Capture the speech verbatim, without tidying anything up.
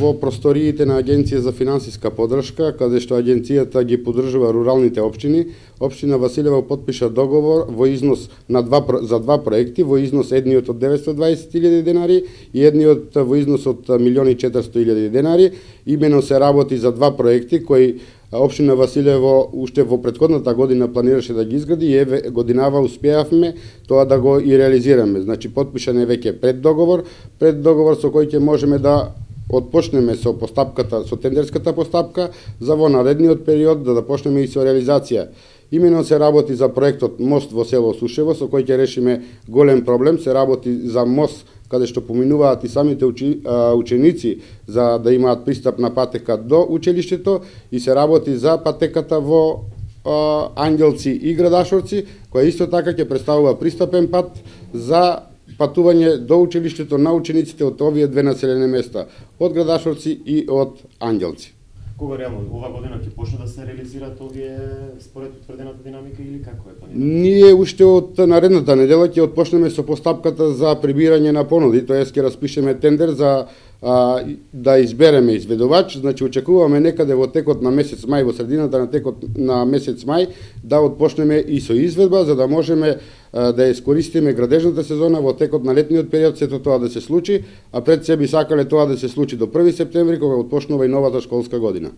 Во просториите на Агенција за финансиска поддршка, каде што агенцијата ги поддржува руралните општини, општина Василево потпиша договор во износ на два за два проекти, во износ едниот од деветстотини и дваесет илјади денари и едниот во износ од милион и четиристотини илјади денари. Имено се работи за два проекти кои општина Василево уште во претходната година планираше да ги изгради и еве годинава успеавме тоа да го и реализираме. Значи потпишан е веќе пред договор, пред договор со кој ќе можеме да отпочнеме со постапката, со тендерската постапка за во наредниот период да да почнеме и со реализација. Имено се работи за проектот мост во село Сушево, со кој ќе решиме голем проблем. Се работи за мост каде што поминуваат и самите учи, а, ученици за да имаат пристап на патека до училиштето, и се работи за патеката во а, Ангелци и Градашорци, која исто така ќе представува пристапен пат за патување до училиштето на учениците од овие две населени места, од Градашорци и од Ангелци. Кога реално ова година ќе почне да се реализираат овие според утврдената динамика или како е планирано? Ние уште од наредната недела ќе отпочнеме со постапката за прибирање на понуди, тоа е ќе распишеме тендер за а, да избереме изведувач. Значи очекуваме некаде во текот на месец мај, во средината на текот на месец мај да отпочнеме и со изведба, за да можеме а, да искористиме градежната сезона во текот на летниот период, сето тоа да се случи, а пред се би сакале тоа да се случи до први септември, кога отпочнува и новата школска година.